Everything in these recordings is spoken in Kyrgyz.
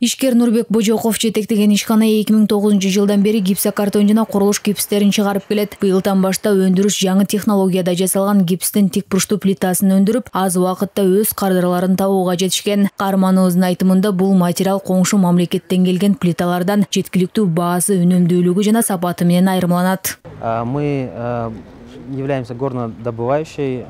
Ишкер Нурбек Божоков жетектеген ишкана 2009-жылдан бери гипсокартон жана курулуш гипстерин чыгарып келет. Быйылдан баштап өндүрүш жаңы технологияда жасалган гипстин тик бурчтуу плитасын өндүрүп, аз убакытта өз кардарларын табууга жетишкен. Каарманыбыздын айтымында бул материал коңшу мамлекеттен келген плиталардан жеткиликтүү баасы, үнөмдүүлүгү жана сапаты менен айырмаланат. Мы являемся горнодобывающей.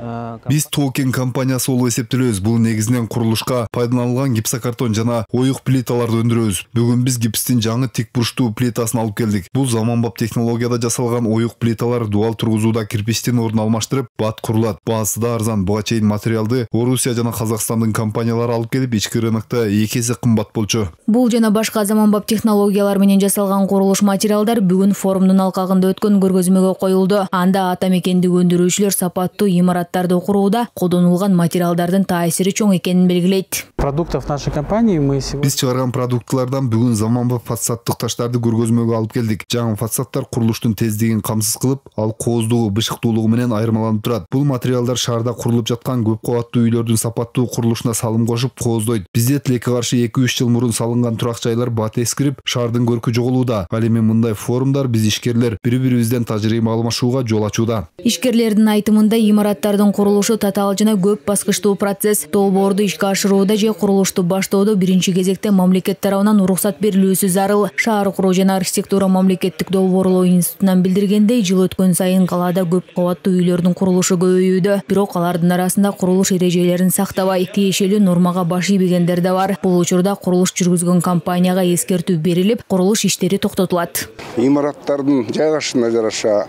Биз Токен компаниясы болуп эсептелебиз. Бул негизинен курулушка пайдаланылган гипсокартон жана оюк плиталарды өндүрөбүз. Бүгүн биз гипстин жаңы тик бурчтуу плитасын алып келдик. Бул заманбап технологияда жасалган оюк плиталар дуал тургузууда кирпичтин ордун алмаштырып, бат курулат. Баасы да арзан. Буга чейин материалды Орусия жана Казакстандын компаниялары алып келип, ички рынокто 2 эсе кымбат болчу. Бул жана башка заманбап технологиялар менен жасалган курулуш материалдар бүгүн форумдун алкагында өткөн көргөзмөгө коюлду. Анда ата мекендик өндүрүүчүлөр сапаттуу имараттарды курууда колдонулган материалдардын таасири чоң экенин белгилейт. Продуктов нашей компании биз чыгарган продуктлардан бүгүн заманбап фасадтык таштарды көргөзмөгө алып келдик. Жаңы фасадтар курулуштун тездигин камсыз кылып, ал кооздугу, бышыктуулугу менен айырмаланып турат. Бул материалдар шаарда курулуп жаткан көп кабаттуу үйлөрдүн сапаттуу курулушуна салым кошуп кооздойт. Бизде тилекке каршы 2-3 жыл мурун салынган турак жайлар бат эскирип, шаардын көркү жоголууда. Ал эми мындай форумдар биз ишкерлер бири-бирибизден тажрыйба алмашууга жол ачууда. Ишкерлердин айтымында имараттардын курулушу татаал жана көп баскычтуу процесс. Долбоорду ишке ашырууда же курулушту баштоодо биринчи кезекте мамлекет тарабынан уруксат берилүүсү зарыл. Шаар куруу жана архитектура мамлекеттик долбоорлоо институтунан билдиргендей, жыл өткөн сайын калаада көп кабаттуу үйлөрдүн курулушу көбөйүүдө. Бирок алардын арасында курулуш эрежелерин сактабай, тиешелүү нормага баш ийбегендер да бар. Бул учурда курулуш жүргүзгөн компанияга эскертүү берилип, курулуш иштери токтотулат. Имараттардын жайгашышына жараша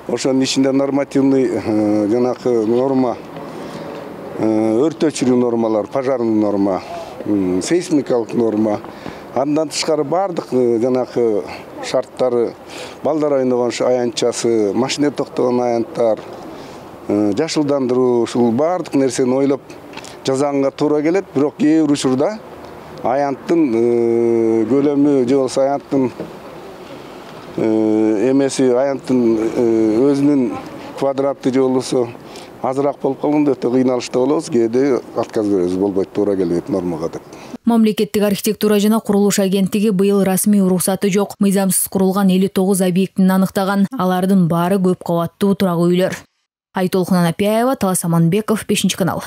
ошонун ичинде нормативный жанакы норма, өрт өчүрүү нормалар, пожарный норма, сейсмикалык норма, андан тышкары бардык жанакы шарттары, балдар ойногон аянтчасы, машина токтогон аянттар, жашылдандыруу, ушул бардык нерсени ойлоп жазганга туура келет. Бирок кээ бир учурда аянттын көлөмү же болбосо аянттын эмеси, аянттын өзүнүн квадраты же болбосо азыраак болуп калганда өтө кыйналышта болобуз. Кээде отказ беребиз, болбойт, туура келбейт нормага деп. Мамлекеттик архитектура жана курулуш агенттиги быйыл расмий уруксаты жок, мыйзамсыз курулган 59 объектин аныктаган. Алардын баары көп кабаттуу турак үйлөр. Айтолкун Анапияева, Талас Аманбеков, 5 канал.